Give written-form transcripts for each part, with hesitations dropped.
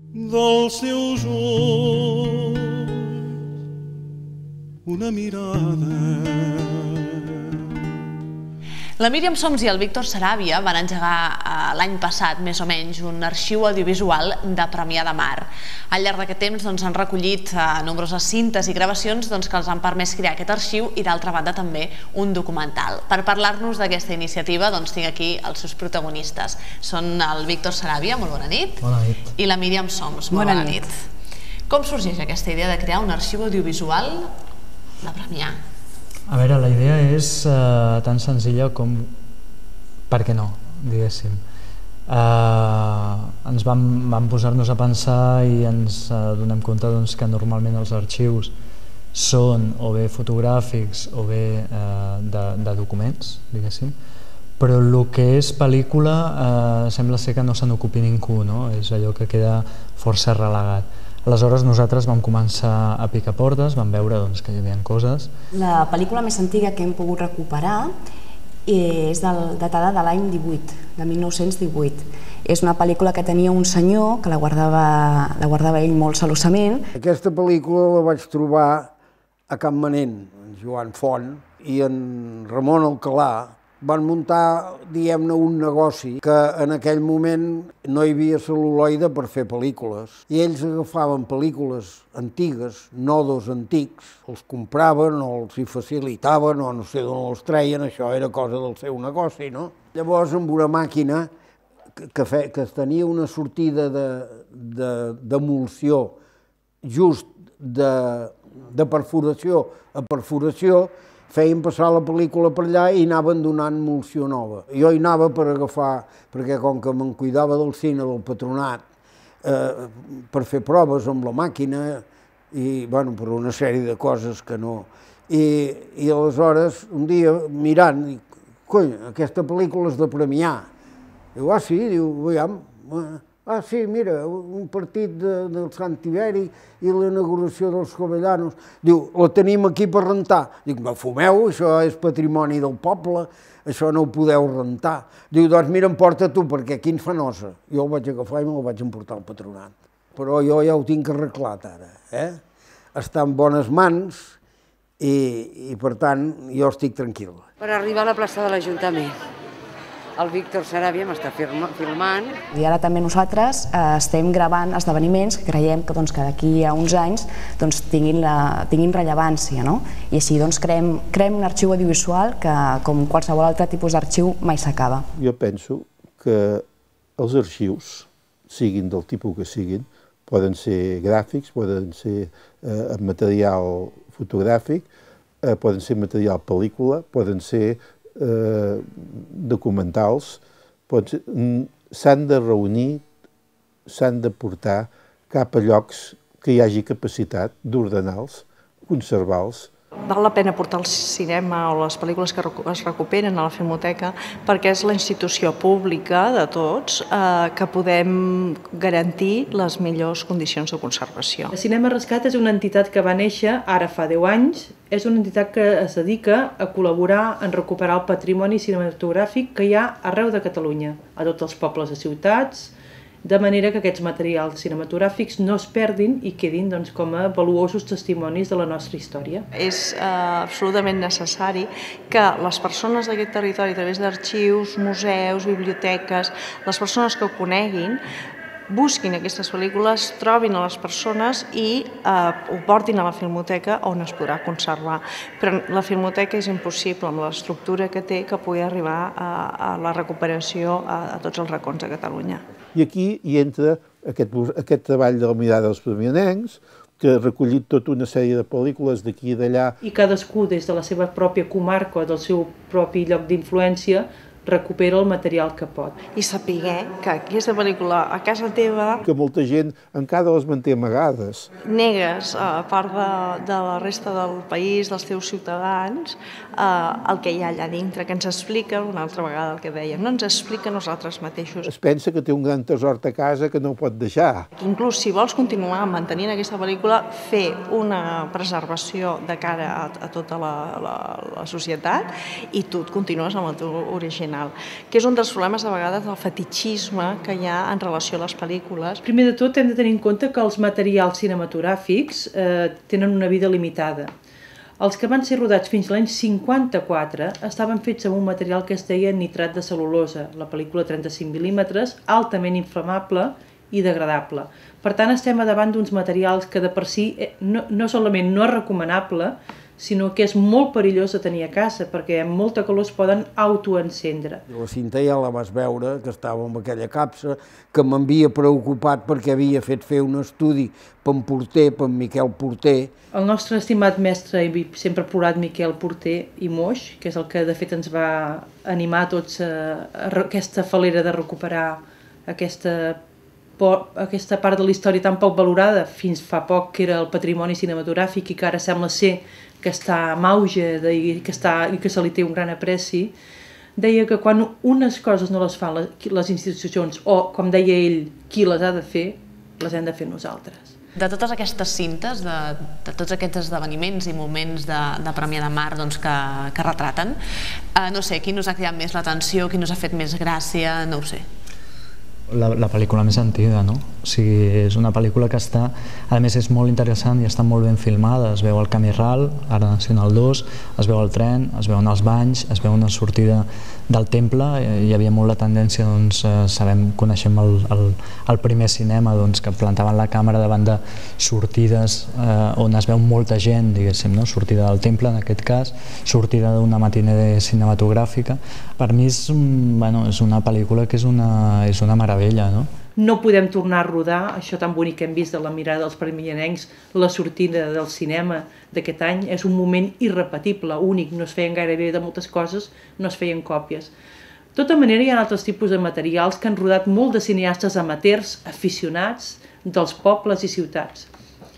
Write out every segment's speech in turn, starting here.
Dels seus ulls una mirada. La Míriam Soms i el Víctor Saràbia van engegar l'any passat, més o menys, un arxiu audiovisual de Premià de Mar. Al llarg d'aquest temps han recollit nombroses cintes i gravacions que els han permès crear aquest arxiu i, d'altra banda, també un documental. Per parlar-nos d'aquesta iniciativa tinc aquí els seus protagonistes. Són el Víctor Saràbia, molt bona nit. Bona nit. I la Míriam Soms, molt bona nit. Com sorgeix aquesta idea de crear un arxiu audiovisual de Premià? A veure, la idea és tan senzilla com per què no, diguéssim. Ens vam posar-nos a pensar i ens donem compte que normalment els arxius són o bé fotogràfics o bé de documents, diguéssim, però el que és pel·lícula sembla ser que no se n'ocupi ningú, és allò que queda força relegat. Aleshores nosaltres vam començar a picar portes, vam veure que hi havia coses. La pel·lícula més antiga que hem pogut recuperar és datada de l'any 18, de 1918. És una pel·lícula que tenia un senyor que la guardava ell molt celosament. Aquesta pel·lícula la vaig trobar a Campmanent, en Joan Font i en Ramon Alcalà. Van muntar, diguem-ne, un negoci que en aquell moment no hi havia cel·luloide per fer pel·lícules. I ells agafaven pel·lícules antigues, nodos antics, els compraven o els hi facilitaven o no sé d'on els treien, això era cosa del seu negoci, no? Llavors, amb una màquina que tenia una sortida d'emulsió just de perforació a perforació, feien passar la pel·lícula per allà i anaven donant emulsió nova. Jo hi anava per agafar, perquè com que me'n cuidava del cine, del patronat, per fer proves amb la màquina i, bueno, per una sèrie de coses que no... I aleshores, un dia, mirant, dic, cony, aquesta pel·lícula és de Premià. Diu, ah, sí? Diu, veiem. Ah, sí, mira, un partit del Sant Tiberi i l'inauguració dels Jovellanos. Diu, la tenim aquí per rentar. Dic, no fumeu, això és patrimoni del poble, això no ho podeu rentar. Diu, doncs mira, emporta tu, perquè aquí ens fa nosa. Jo el vaig agafar i me'l vaig emportar al patronat. Però jo ja ho tinc arreglat ara, Està en bones mans i per tant, jo estic tranquil. Per arribar a la plaça de l'Ajuntament. El Víctor Saràbia m'està filmant. I ara també nosaltres estem gravant esdeveniments que creiem que d'aquí a uns anys tinguin rellevància. I així creem un arxiu audiovisual que, com qualsevol altre tipus d'arxiu, mai s'acaba. Jo penso que els arxius, siguin del tipus que siguin, poden ser gràfics, poden ser material fotogràfic, poden ser material pel·lícula, poden ser documentals, s'han de reunir, s'han de portar cap a llocs que hi hagi capacitat d'ordenar-los, conservar-los. Val la pena portar al cinema o les pel·lícules que es recuperen a la Filmoteca perquè és la institució pública de tots que podem garantir les millors condicions de conservació. El Cinema Rescat és una entitat que va néixer ara fa 10 anys. És una entitat que es dedica a col·laborar en recuperar el patrimoni cinematogràfic que hi ha arreu de Catalunya, a tots els pobles i ciutats, de manera que aquests materials cinematogràfics no es perdin i quedin com a valuosos testimonis de la nostra història. És absolutament necessari que les persones d'aquest territori, a través d'arxius, museus, biblioteques, les persones que ho coneguin, busquin aquestes pel·lícules, trobin a les persones i ho portin a la Filmoteca on es podrà conservar. Però la Filmoteca és impossible, amb l'estructura que té, que pugui arribar a la recuperació a tots els racons de Catalunya. I aquí hi entra aquest treball de la mirada dels premianencs, que ha recollit tota una sèrie de pel·lícules d'aquí i d'allà. I cadascú, des de la seva pròpia comarca o del seu propi lloc d'influència, recupera el material que pot. I saber que aquesta pel·lícula a casa teva... Que molta gent encara les manté amagades. Negues, a part de la resta del país, dels teus ciutadans, el que hi ha allà dintre, que ens explica, una altra vegada el que dèiem, no ens explica nosaltres mateixos. Es pensa que té un gran tesor a casa que no pot deixar. Inclús si vols continuar mantenint aquesta pel·lícula, fer una preservació de cara a tota la societat i tu et continues amb el teu original. original, que és un dels problemes a vegades del fetichisme que hi ha en relació a les pel·lícules. Primer de tot hem de tenir en compte que els materials cinematogràfics tenen una vida limitada. Els que van ser rodats fins l'any 54 estaven fets amb un material que es deia nitrat de cel·lulosa, la pel·lícula 35 mm, altament inflamable i degradable. Per tant, estem davant d'uns materials que de per si no solament no és recomanable, sinó que és molt perillós de tenir a casa, perquè amb molta calor es poden autoencendre. La cinta ja la vas veure, que estava amb aquella capsa, que m'havia preocupat perquè havia fet fer un estudi per en Porter, per en Miquel Porter. El nostre estimat mestre i sempre plorat Miquel Porter i Moix, que és el que de fet ens va animar a tots a aquesta falera de recuperar aquesta part de la història tan poc valorada, fins fa poc que era el patrimoni cinematogràfic i que ara sembla ser que està en auge i que se li té un gran apreci, deia que quan unes coses no les fan les institucions o, com deia ell, qui les ha de fer, les hem de fer nosaltres. De totes aquestes cintes, de tots aquests esdeveniments i moments de Premià de Mar que retraten, no sé, quin us ha cridat més l'atenció, quin us ha fet més gràcia, no ho sé. La pel·lícula més antiga, no? O sigui, és una pel·lícula que està, a més és molt interessant i està molt ben filmada, es veu el camí ral, ara Nacional 2, es veu el tren, es veuen els banys, es veu una sortida del temple, hi havia molt la tendència, doncs, coneixem el primer cinema, doncs, que plantaven la càmera davant de sortides on es veu molta gent, diguéssim, no? Sortida del temple, en aquest cas, sortida d'una matinée cinematogràfica. Per mi és una pel·lícula que és una meravella, no? No podem tornar a rodar això tan bonic que hem vist de la mirada dels premianencs, la sortida del cinema d'aquest any. És un moment irrepetible, únic, no es feien gairebé de moltes coses, no es feien còpies. De tota manera, hi ha altres tipus de materials que han rodat molt de cineastes amateurs, aficionats, dels pobles i ciutats.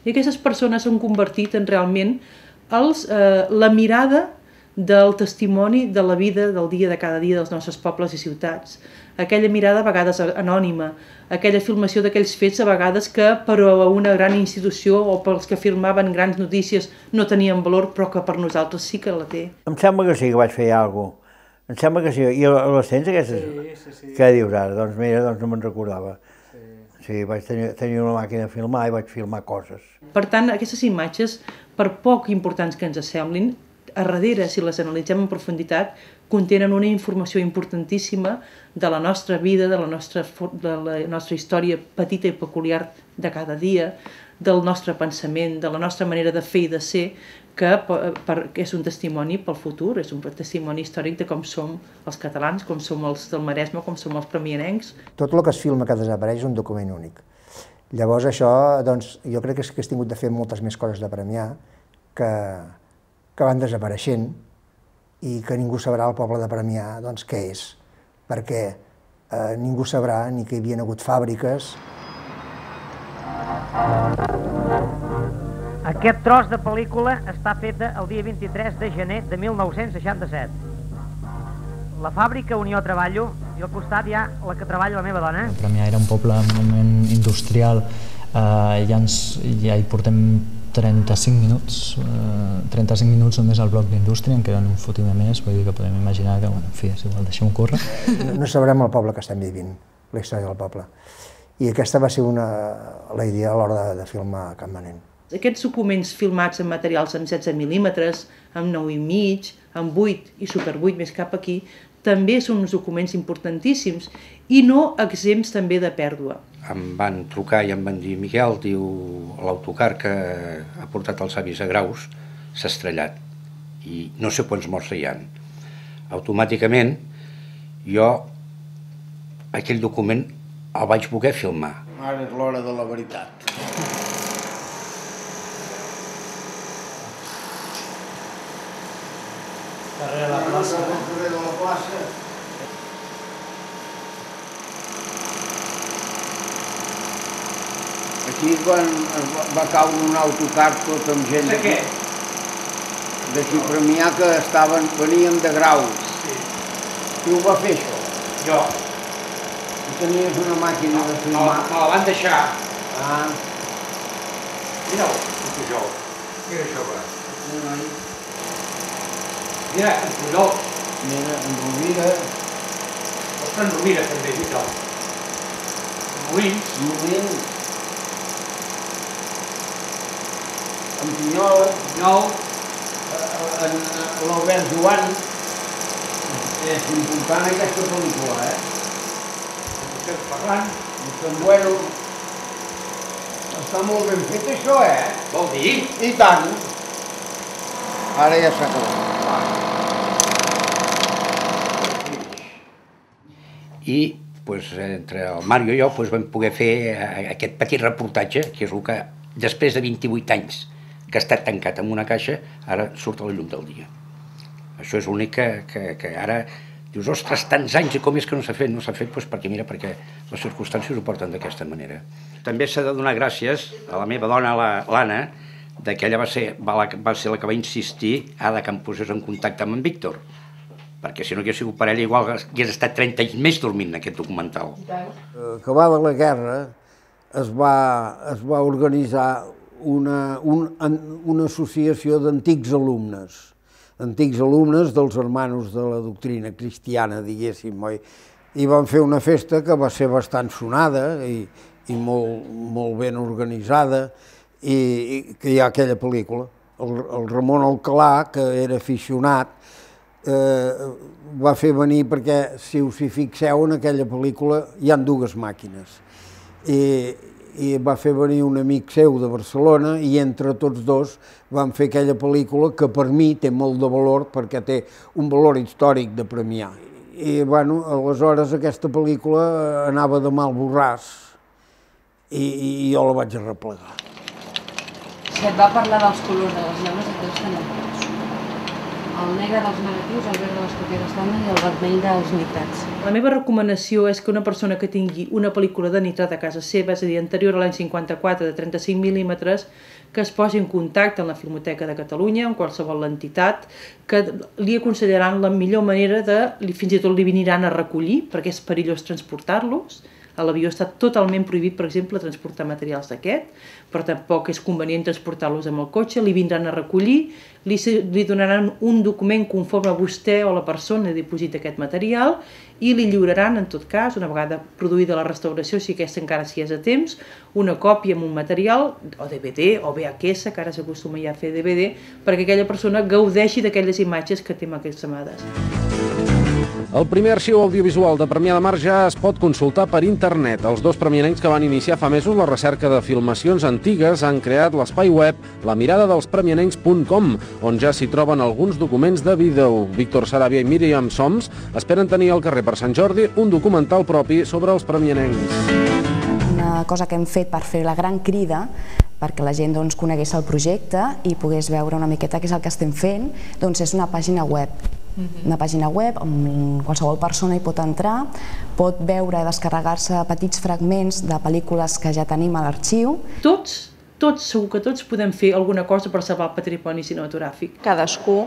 I aquestes persones s'han convertit en realment la mirada del testimoni de la vida del dia de cada dia dels nostres pobles i ciutats. Aquella mirada a vegades anònima, aquella filmació d'aquells fets a vegades que per a una gran institució o pels que filmaven grans notícies no tenien valor, però que per nosaltres sí que la té. Em sembla que sí que vaig fer alguna cosa. Em sembla que sí. I les tens aquestes? Sí. Què dius ara? Doncs mira, no me'n recordava. Sí, vaig tenir una màquina de filmar i vaig filmar coses. Per tant, aquestes imatges, per poc importants que ens semblin, a darrere, si les analitzem en profunditat, contenen una informació importantíssima de la nostra vida, de la nostra història petita i peculiar de cada dia, del nostre pensament, de la nostra manera de fer i de ser, que és un testimoni pel futur, és un testimoni històric de com som els catalans, com som els del Maresme, com som els premianencs. Tot el que es filma que desapareix és un document únic. Llavors això, doncs, jo crec que has tingut de fer moltes més coses de premiar que van desapareixent i que ningú sabrà al poble de Premià doncs, què és, perquè ningú sabrà ni que hi havia hagut fàbriques. Aquest tros de pel·lícula està feta el dia 23 de gener de 1967. La fàbrica Unió Treballo i al costat hi ha la que treballa la meva dona. Premià era un poble eminentment industrial, ja hi portem 35 minuts només al bloc d'indústria, en queden un fotimer més, vull dir que podem imaginar que, en fi, és igual, deixem-ho córrer. No sabrem el poble que estem vivint, la història del poble. I aquesta va ser la idea a l'hora de filmar Campmanent. Aquests documents filmats en materials amb 16 mil·límetres, amb 9,5, amb 8 i super 8 més cap aquí, també són uns documents importantíssims i no exempts també de pèrdua. Em van trucar i em van dir: Miquel, diu, l'autocar que ha portat els avis a Graus s'ha estrellat i no sé quants morts hi ha. Automàticament jo aquell document el vaig voler filmar. Ara és l'hora de la veritat. Darrere la plaça. Darrere la plaça. Aquí va caure un autocar tot amb gent d'aquí Premià que venien de Graus. Qui ho va fer, això? Jo. Tu tenies una màquina de filmar? Me la van deixar. Ah. Mira'l, el Pujol. Mira això, va. Mira, en Pujol. Mira, en Rovira. Sant Rovira també, Vital. Molins. Molins. En Pinyol. L'Albert Joan. És important aquesta pel·lícula, Josep Ferran. Sant Bueno. Està molt ben fet això, Vol dir? I tant. Ara ja s'ha acabat. I entre el Mario i jo vam poder fer aquest petit reportatge, que és el que després de 28 anys que ha estat tancat en una caixa, ara surt a la llum del dia. Això és l'únic que ara dius, ostres, tants anys i com és que no s'ha fet? No s'ha fet perquè les circumstàncies ho porten d'aquesta manera. També s'ha de donar gràcies a la meva dona, l'Anna, que ella va ser la que va insistir que em posés en contacte amb en Víctor, perquè si no hagués sigut per ella igual hagués estat 30 anys més dormint aquest documental. Acabada la guerra es va organitzar una associació d'antics alumnes dels hermanos de la doctrina cristiana, diguéssim, i van fer una festa que va ser bastant sonada i molt ben organitzada, i que hi ha aquella pel·lícula. El Ramon Alcalà, que era aficionat, va fer venir, perquè si us hi fixeu en aquella pel·lícula hi ha dues màquines, i va fer venir un amic seu de Barcelona i entre tots dos van fer aquella pel·lícula que per mi té molt de valor perquè té un valor històric de premiar. I aleshores aquesta pel·lícula anava de mal borràs i jo la vaig arreplegar. Si et va parlar dels colors de les llaunes, et deus tenir el negre dels negatius, el verd de les còpies estàndard i el vermell dels nitrats. La meva recomanació és que una persona que tingui una pel·lícula de nitrat a casa seva, és a dir, anterior a l'any 54 de 35 mil·límetres, que es posi en contacte amb la Filmoteca de Catalunya, en qualsevol entitat, que li aconsellaran la millor manera fins i tot li viniran a recollir, perquè és perillós transportar-los. A l'avió està totalment prohibit, per exemple, transportar materials d'aquest, però tampoc és convenient transportar-los amb el cotxe, li vindran a recollir, li donaran un document conforme a vostè o la persona diposita aquest material i li lliuraran, en tot cas, una vegada produïda la restauració, si aquesta encara s'hi és a temps, una còpia amb un material, o DVD, o VHS, que ara s'acostuma ja a fer DVD, perquè aquella persona gaudeixi d'aquelles imatges que té emmagatzemades. El primer arxiu audiovisual de Premià de Mar ja es pot consultar per internet. Els dos premianencs que van iniciar fa mesos la recerca de filmacions antigues han creat l'espai web lamiradadelspremianencs.com, on ja s'hi troben alguns documents de vídeo. Víctor Saràbia i Míriam Soms esperen tenir al carrer per Sant Jordi un documental propi sobre els premianencs. Una cosa que hem fet per fer la gran crida perquè la gent conegués el projecte i pogués veure una miqueta què és el que estem fent, és una pàgina web. Una pàgina web on qualsevol persona hi pot entrar, pot veure i descarregar-se petits fragments de pel·lícules que ja tenim a l'arxiu. Segur que tots podem fer alguna cosa per salvar el patrimoni cinematogràfic. Cadascú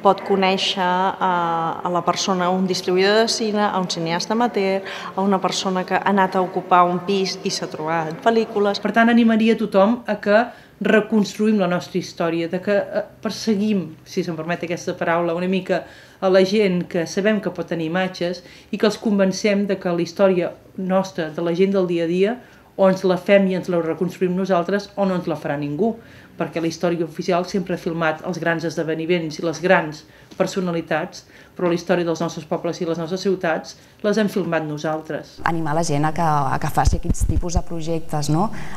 pot conèixer a la persona, un distribuïdor de cine, a un cineasta amateur, a una persona que ha anat a ocupar un pis i s'ha trobat pel·lícules. Per tant, animaria tothom a que reconstruïm la nostra història, de que perseguim, si se'm permet aquesta paraula, una mica a la gent que sabem que pot tenir imatges i que els convencem de que la història nostra, de la gent del dia a dia, o ens la fem i ens la reconstruïm nosaltres o no ens la farà ningú, perquè la història oficial sempre ha filmat els grans esdeveniments i les grans personalitats, però la història dels nostres pobles i les nostres ciutats les hem filmat nosaltres. Animar la gent a que faci aquests tipus de projectes,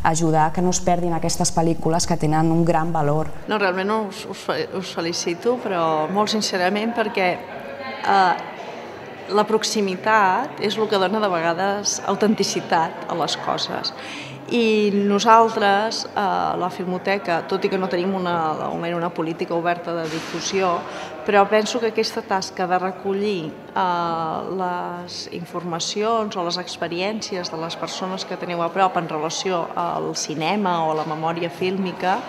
ajudar que no es perdin aquestes pel·lícules que tenen un gran valor. No, realment us felicito, però molt sincerament perquè la proximitat és el que dona de vegades autenticitat a les coses. I nosaltres, la Filmoteca, tot i que no tenim una política oberta de difusió, però penso que aquesta tasca de recollir les informacions o les experiències de les persones que teniu a prop en relació al cinema o a la memòria fílmica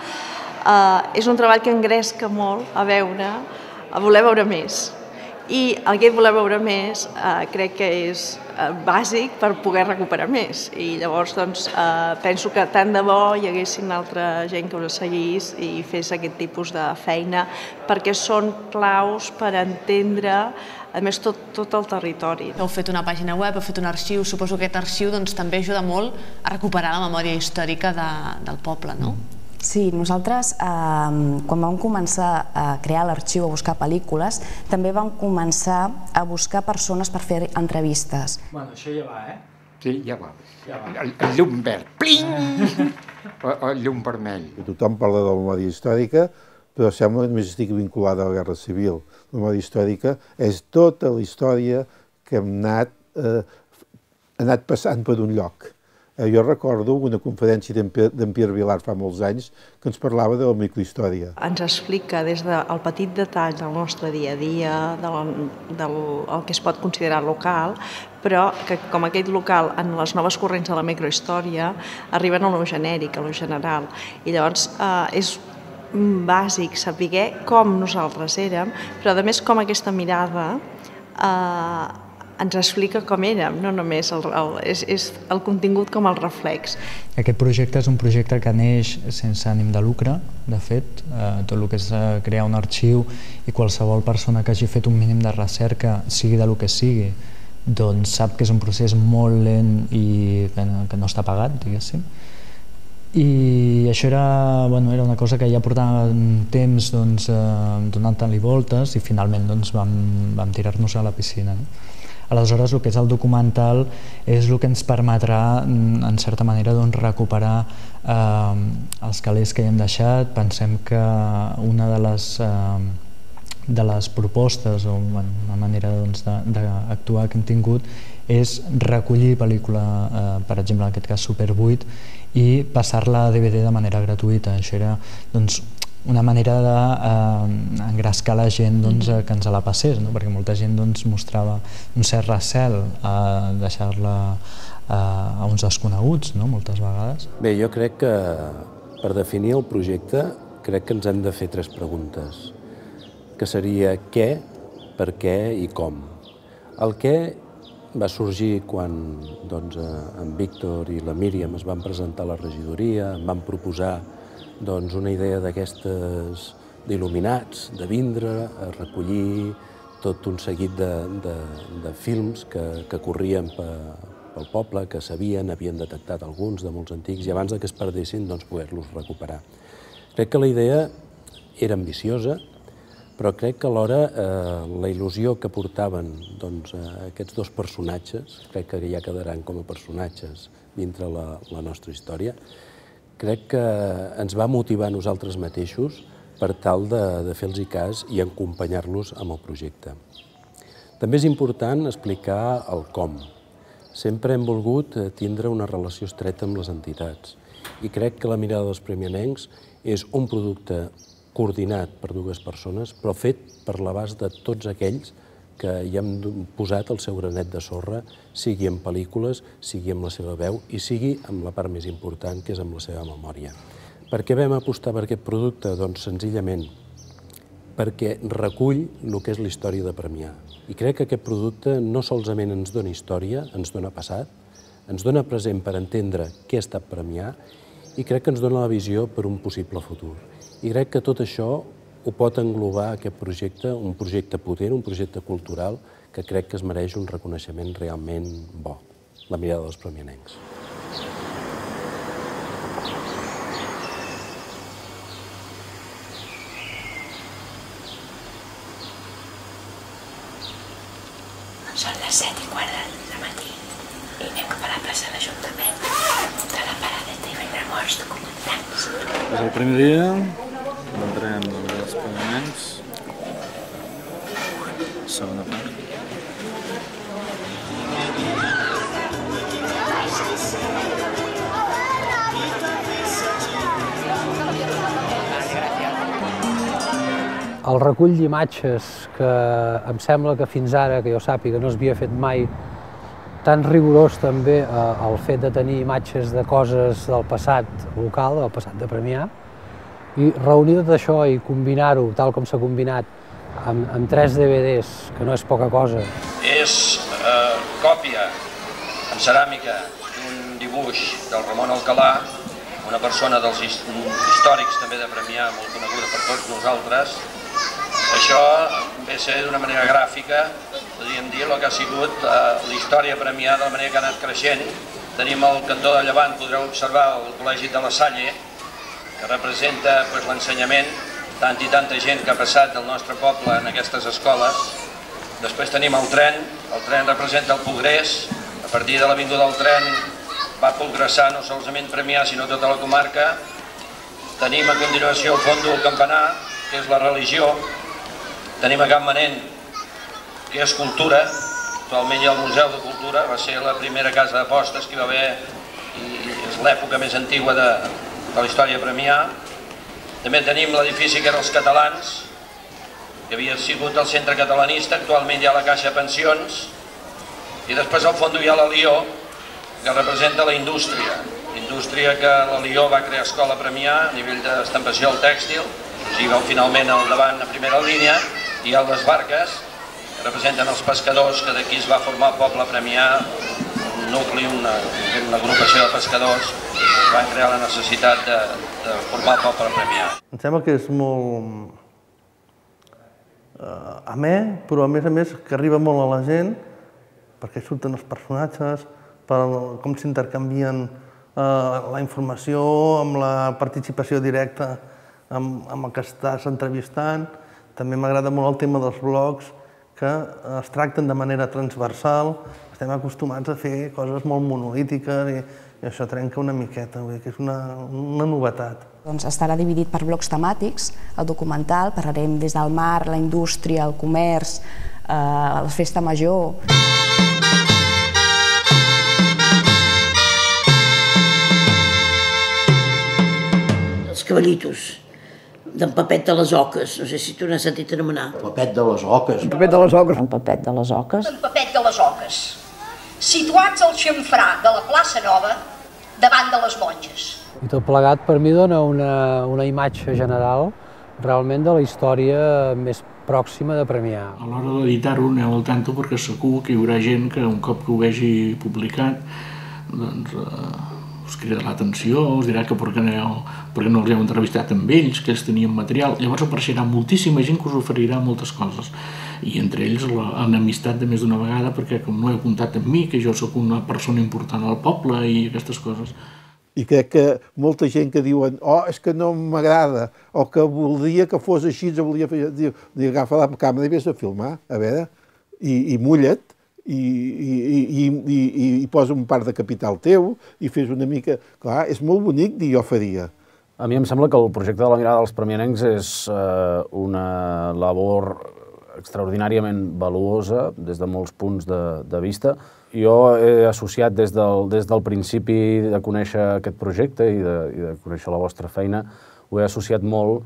és un treball que engresca molt a voler veure més. I el que voler veure més crec que és bàsic per poder recuperar més. I llavors penso que tant de bo hi haguessin altra gent que us seguís i fes aquest tipus de feina, perquè són claus per entendre, a més, tot el territori. Heu fet una pàgina web, heu fet un arxiu, suposo que aquest arxiu també ajuda molt a recuperar la memòria històrica del poble, no? Sí, nosaltres, quan vam començar a crear l'arxiu, a buscar pel·lícules, també vam començar a buscar persones per fer entrevistes. Bueno, això ja va, Sí, ja va. El llum verd, pling! O el llum vermell. Tothom parla de la memòria històrica, però sembla que només estigui vinculada a la Guerra Civil. La memòria històrica és tota la història que hem anat passant per un lloc. Jo recordo una conferència d'en Pierre Vilar fa molts anys que ens parlava de la microhistòria. Ens explica des del petit detall del nostre dia a dia, del que es pot considerar local, però que com aquest local en les noves corrents de la microhistòria arriben a lo genèric, a lo general. I llavors és bàsic saber com nosaltres érem, però a més com aquesta mirada ens explica com érem, no només és el contingut com el reflex. Aquest projecte és un projecte que neix sense ànim de lucre, de fet, tot el que és crear un arxiu i qualsevol persona que hagi fet un mínim de recerca, sigui del que sigui, doncs sap que és un procés molt lent i que no està pagat, diguéssim. I això era una cosa que ja portava temps donant-li voltes i finalment vam tirar-nos a la piscina. Aleshores, el que és el documental és el que ens permetrà, en certa manera, recuperar els calés que hi hem deixat. Pensem que una de les propostes o una manera d'actuar que hem tingut és recollir pel·lícula, per exemple, en aquest cas Super 8, i passar-la a DVD de manera gratuïta. Això era una manera d'engrescar la gent que ens la passés, perquè molta gent mostrava un cert recel a deixar-la a uns desconeguts, moltes vegades. Bé, jo crec que per definir el projecte crec que ens hem de fer 3 preguntes, que seria què, per què i com. El què va sorgir quan en Víctor i la Míriam es van presentar a la regidoria, em van proposar una idea d'aquestes d'il·luminats, de vindre a recollir tot un seguit de films que corrien pel poble, que sabien, havien detectat alguns de molts antics, i abans que es perdessin, poder-los recuperar. Crec que la idea era ambiciosa, però crec que alhora la il·lusió que portaven aquests 2 personatges, crec que ja quedaran com a personatges dintre la nostra història, crec que ens va motivar a nosaltres mateixos per tal de fer-los cas i acompanyar-los amb el projecte. També és important explicar el com. Sempre hem volgut tindre una relació estreta amb les entitats i crec que la mirada dels premianencs és un producte coordinat per 2 persones, però fet per l'abast de tots aquells que hi hem posat el seu granet de sorra, sigui en pel·lícules, sigui amb la seva veu i sigui amb la part més important, que és amb la seva memòria. Per què vam apostar per aquest producte? Doncs senzillament perquè recull el que és la història de Premià. I crec que aquest producte no solament ens dona història, ens dona passat, ens dona present per entendre què ha estat Premià i crec que ens dona la visió per un possible futur. I crec que tot això ho pot englobar aquest projecte, un projecte potent, un projecte cultural, que crec que es mereix un reconeixement realment bo, la mirada dels premianencs. Són les 7:15 del matí i anem cap a la plaça de l'Ajuntament, de la paradeta i vindrem molts documentants. És el primer dia, vendrem els premianencs, segona part. El recull d'imatges que em sembla que fins ara, que jo sàpiga, no s'havia fet mai, tan rigorós també el fet de tenir imatges de coses del passat local, del passat de Premià, i reunir tot això i combinar-ho, tal com s'ha combinat, amb 3 DVDs, que no és poca cosa. És còpia en ceràmica d'un dibuix del Ramon Alcalà, una persona dels històrics també de Premià, molt coneguda per tots nosaltres. Això ve a ser d'una manera gràfica, podríem dir, el que ha sigut la història Premià de la manera que ha anat creixent. Tenim al cantó de llevant, podreu observar el Col·legi de la Salle, que representa l'ensenyament, tant i tanta gent que ha passat del nostre poble en aquestes escoles. Després tenim el tren representa el progrés, a partir de l'avinguda del tren va progressar no solament Premià, sinó tota la comarca. Tenim a continuació el fons del campanar, que és la religió. Tenim a Can Manent, que és cultura. Actualment hi ha el Museu de Cultura, va ser la primera casa d'apostes que hi va haver i és l'època més antigua de la història de Premià. També tenim l'edifici que era els Catalans, que havia sigut el centre catalanista, actualment hi ha la Caixa de Pensions, i després al fons hi ha la Lió, que representa la indústria. Indústria que la Lió va crear escola a Premià a nivell d'estampació al tèxtil, o sigui, veu finalment al davant a primera línia, i hi ha les barques, que representen els pescadors, que d'aquí es va formar el poble Premià, un nucli, una agrupació de pescadors, que van crear la necessitat de formar el poble Premià. Em sembla que és molt amè, però a més que arriba molt a la gent, perquè surten els personatges, com s'intercanvien la informació amb la participació directa amb el que estàs entrevistant. També m'agrada molt el tema dels blogs, que es tracten de manera transversal. Estem acostumats a fer coses molt monolítiques i això trenca una miqueta, que és una novetat. Estarà dividit per blocs temàtics. El documental parlarem des del mar, la indústria, el comerç, la festa major. Els cavallitos d'en Pepet de les Oques, no sé si tu n'has sentit anomenar. Pepet de les Oques. En Pepet de les Oques. En Pepet de les Oques. En Pepet de les Oques, situats al xamfrà de la plaça Nova, davant de les monges. I tot plegat per mi dona una imatge general realment de la història més pròxima de Premià. A l'hora d'editar-ho aneu al tanto perquè segur que hi haurà gent que un cop que ho vegi publicat doncs us cridarà l'atenció, us dirà que per què no els heu entrevistat amb ells, que ells tenien material. Llavors apareixerà moltíssima gent que us oferirà moltes coses. I entre ells l'amistat de més d'una vegada, perquè com no heu comptat amb mi, que jo sóc una persona important al poble i aquestes coses. I crec que molta gent que diuen és que no m'agrada, o que voldria que fos així, volia fer... Agafa la càmera i vés a filmar, a veure, i mulla't, i posa un part de capital teu, i fes una mica... Clar, és molt bonic dir jo faria. A mi em sembla que el projecte de la mirada dels premianencs és una labor extraordinàriament valuosa des de molts punts de vista. Jo he associat des del principi de conèixer aquest projecte i de conèixer la vostra feina, ho he associat molt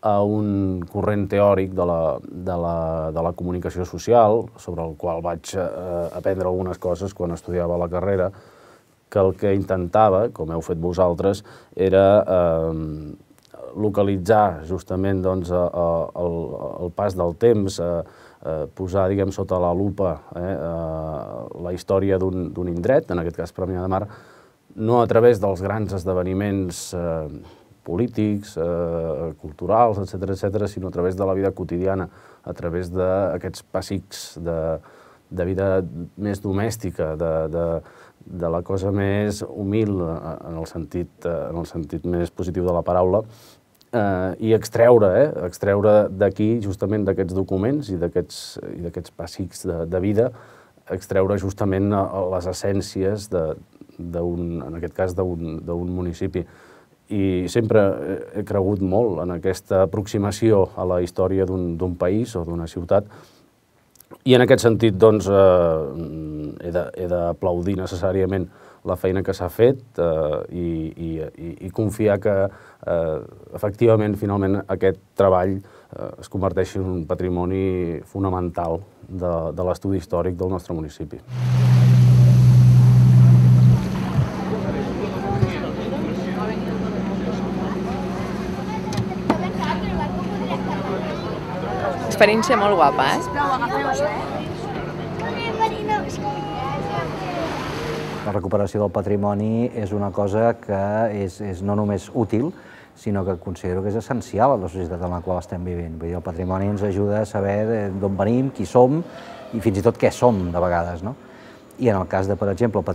a un corrent teòric de la comunicació social, sobre el qual vaig aprendre algunes coses quan estudiava la carrera, que el que intentava, com heu fet vosaltres, era localitzar justament el pas del temps, posar, diguem, sota la lupa la història d'un indret, en aquest cas Premià de Mar, no a través dels grans esdeveniments polítics, culturals, etc., sinó a través de la vida quotidiana, a través d'aquests pessics de vida més domèstica, de la cosa més humil, en el sentit més positiu de la paraula, i extreure d'aquí, justament d'aquests documents i d'aquests pessics de vida, extreure justament les essències, en aquest cas, d'un municipi. I sempre he cregut molt en aquesta aproximació a la història d'un país o d'una ciutat, i en aquest sentit doncs he d'aplaudir necessàriament la feina que s'ha fet i confiar que efectivament, finalment, aquest treball es converteixi en un patrimoni fonamental de l'estudi històric del nostre municipi. experiència molt guapa, La recuperació del patrimoni és una cosa que és no només útil, sinó que considero que és essencial a la societat en la qual estem vivint. Vull dir, el patrimoni ens ajuda a saber d'on venim, qui som i fins i tot què som, de vegades, no? I en el cas de, per exemple, el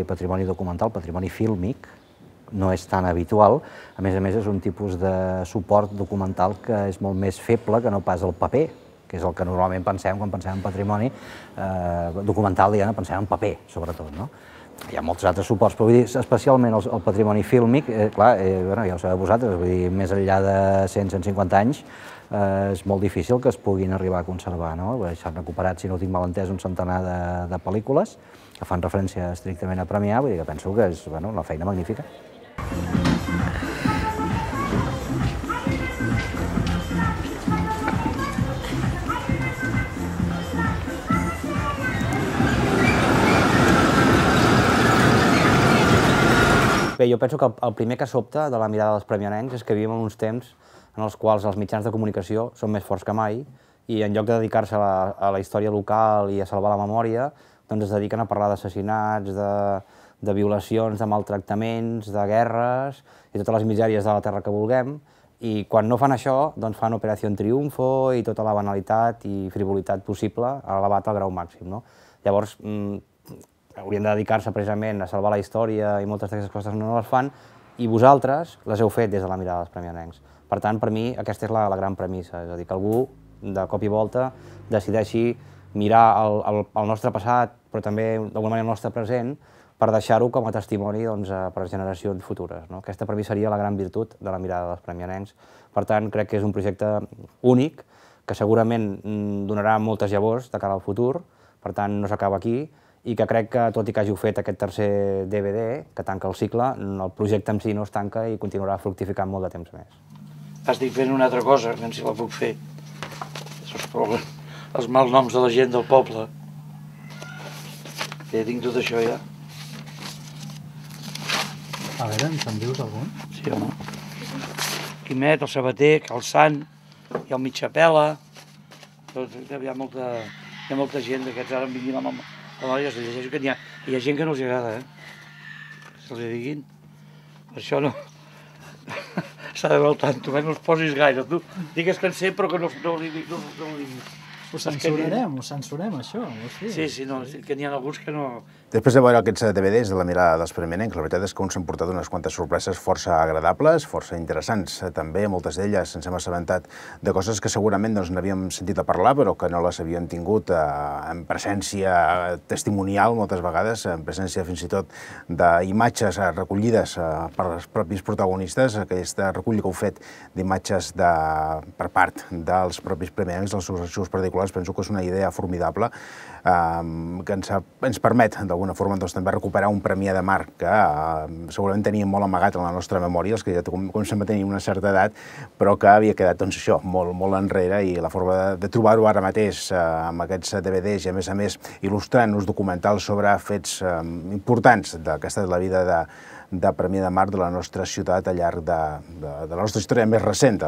patrimoni documental, patrimoni fílmic, no és tan habitual. A més, és un tipus de suport documental que és molt més feble que no pas el paper, que és el que normalment pensem quan pensem en patrimoni documental, diguem-ne, pensem en paper, sobretot, no? Hi ha molts altres suports, però vull dir, especialment el patrimoni fílmic, clar, ja ho sabeu vosaltres, vull dir, més enllà de 100-150 anys, és molt difícil que es puguin arribar a conservar, no? S'han recuperat, si no ho tinc mal entès, un centenar de pel·lícules que fan referència estrictament a premiar, vull dir que penso que és una feina magnífica. Bé, jo penso que el primer que sobta de la mirada dels premianencs és que vivim en uns temps en els quals els mitjans de comunicació són més forts que mai i en lloc de dedicar-se a la història local i a salvar la memòria, doncs es dediquen a parlar d'assassinats, de violacions, de maltractaments, de guerres i totes les misèries de la terra que vulguem, i quan no fan això, doncs fan Operació Triunfo i tota la banalitat i frivolitat possible elevat al grau màxim, no? Llavors, haurien de dedicar-se precisament a salvar la història i moltes d'aquestes coses no les fan, i vosaltres les heu fet des de la mirada dels premianencs. Per tant, per mi, aquesta és la gran premissa, és a dir, que algú, de cop i volta, decideixi mirar el nostre passat, però també, d'alguna manera, el nostre present, per deixar-ho com a testimoni per a generacions futures. Aquesta per mi seria la gran virtut de la mirada dels premianencs. Per tant, crec que és un projecte únic, que segurament donarà moltes llavors de cara al futur, per tant, no s'acaba aquí, i que crec que, tot i que hàgiu fet aquest tercer DVD, que tanca el cicle, el projecte en si no es tanca i continuarà fructificant molt de temps més. Estic fent una altra cosa, que si la puc fer. Els malnoms de la gent del poble. Ja tinc tot això, ja. A veure, ens en dius algun? Sí, home. Quimet, el sabater, Calçant, i el Mitjapela. Hi ha molta gent d'aquests, ara em vinguin la memòria, es llegeixo que hi ha gent que no els agrada, se'ls diguin. Per això no... S'ha de veure al tanto, no els posis gaire. Tu digues que en sé, però que no ho diguis. Ho censurem, això. Sí, no, que n'hi ha alguns que no... Després de veure aquests DVDs de la mirada dels premianencs, la veritat és que uns s'han portat unes quantes sorpreses força agradables, força interessants. També, moltes d'elles ens hem assabentat de coses que segurament n'havíem sentit a parlar, però que no les havíem tingut en presència testimonial, moltes vegades, en presència fins i tot d'imatges recollides per els propis protagonistes. Aquesta recollida que heu fet d'imatges per part dels propis premianencs, dels seus arxius particulars, penso que és una idea formidable que ens permet, d'alguna forma, també recuperar un Premià de Mar que segurament teníem molt amagat en la nostra memòria, els que ja comencem a tenir una certa edat, però que havia quedat, doncs, això, molt enrere, i la forma de trobar-ho ara mateix amb aquests DVDs i, a més, il·lustrant uns documentals sobre fets importants d'aquesta de la vida de Premià de Mar de la nostra ciutat al llarg de la nostra història més recent,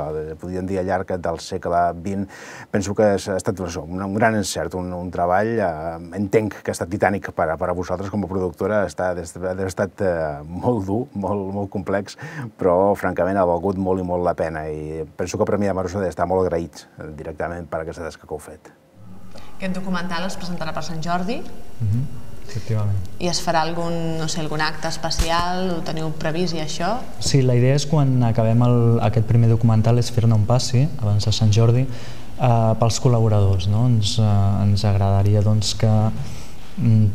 podríem dir al llarg del segle XX. Penso que ha estat un gran encert, un treball, entenc que ha estat titànic per a vosaltres com a productora, ha estat molt dur, molt complex, però francament ha valgut molt i molt la pena, i penso que Premià de Mar us ha d'estar molt agraïts directament per aquesta tasca que heu fet. Aquest documental es presentarà per Sant Jordi? Efectivament. I es farà algun acte especial? Ho teniu previst i això? Sí, la idea és quan acabem aquest primer documental és fer-ne un passi abans de Sant Jordi pels col·laboradors. Ens agradaria que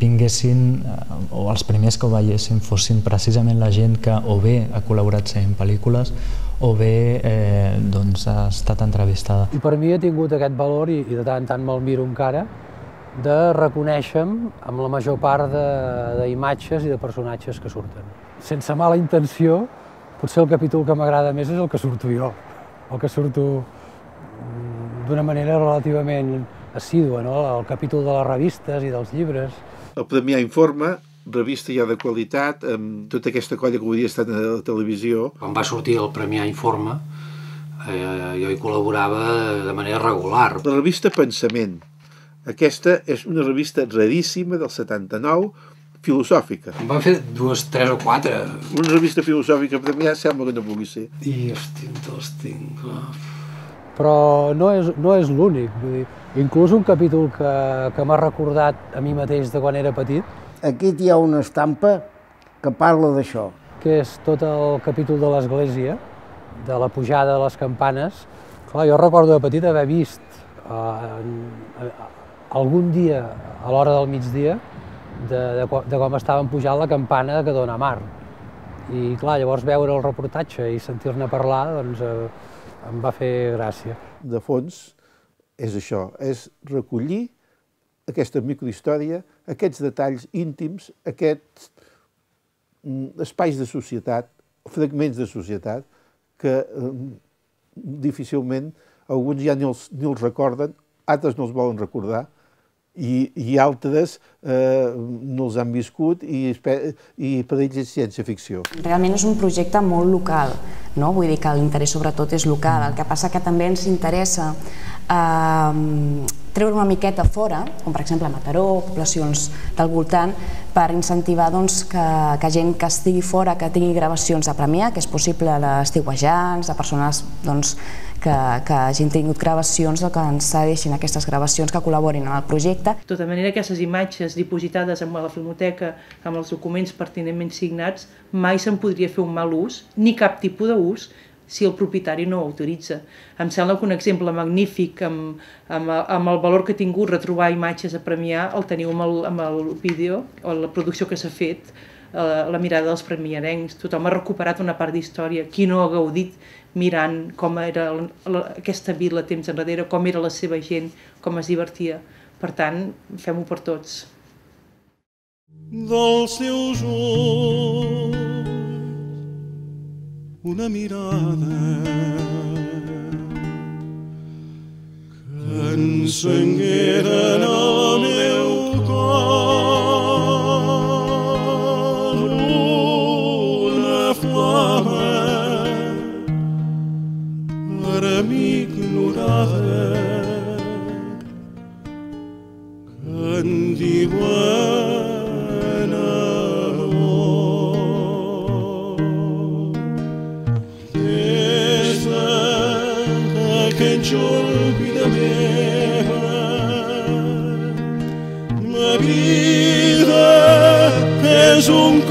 vinguessin, o els primers que ho veiessin fossin precisament la gent que o bé ha col·laborat en pel·lícules o bé ha estat entrevistada. I per mi ha tingut aquest valor, i de tant en tant me'l miro encara, de reconèixer-me amb la major part d'imatges i de personatges que surten. Sense mala intenció, potser el capítol que m'agrada més és el que surto jo, el que surto d'una manera relativament assídua, el capítol de les revistes i dels llibres. El Premià Informa, revista ja de qualitat, amb tota aquesta colla que avui dia ha estat a la televisió. Quan va sortir el Premià Informa, Jo hi col·laborava de manera regular. La revista Pensament. Aquesta és una revista raríssima del 79, filosòfica. En van fer 2, 3 o 4. Una revista filosòfica per mi ja sembla que no pugui ser. I els tinc. Però no és l'únic. Inclús un capítol que m'ha recordat a mi mateix de quan era petit. Aquí hi ha una estampa que parla d'això. Que és tot el capítol de l'església, de la pujada de les campanes. Clar, jo recordo de petit haver vist algun dia, a l'hora del migdia, de com estaven pujant la campana que dona a mar. I clar, llavors veure el reportatge i sentir-ne parlar, doncs em va fer gràcia. De fons és això, és recollir aquesta microhistòria, aquests detalls íntims, aquests espais de societat, fragments de societat, que difícilment alguns ja ni els recorden, altres no els volen recordar, i altres no els han viscut i per ells és ciència-ficció. Realment és un projecte molt local, no? Vull dir que l'interès sobretot és local. El que passa que també ens interessa treure una miqueta fora, com per exemple a Mataró, poblacions del voltant, per incentivar que gent que estigui fora, que tingui gravacions a Premià, que és possible d'estiuejants, de persones que hagin tingut gravacions o que ens cedeixin aquestes gravacions, que col·laborin en el projecte. De tota manera, aquestes imatges dipositades amb la filmoteca, amb els documents pertinentment signats, mai se'n podria fer un mal ús, ni cap tipus d'ús, si el propietari no ho autoritza. Em sembla que un exemple magnífic amb el valor que ha tingut retrobar imatges a Premià el teniu amb el vídeo o la producció que s'ha fet, La mirada dels premiarencs. Tothom ha recuperat una part d'història. Qui no ha gaudit mirant com era aquesta vila temps enrere, com era la seva gent, com es divertia. Per tant, fem-ho per tots. Dels seus ulls una mirada que encengueren el meu cor una flama per a mi ignorada que en diuen aquell jorn, vida meva, ma vida és un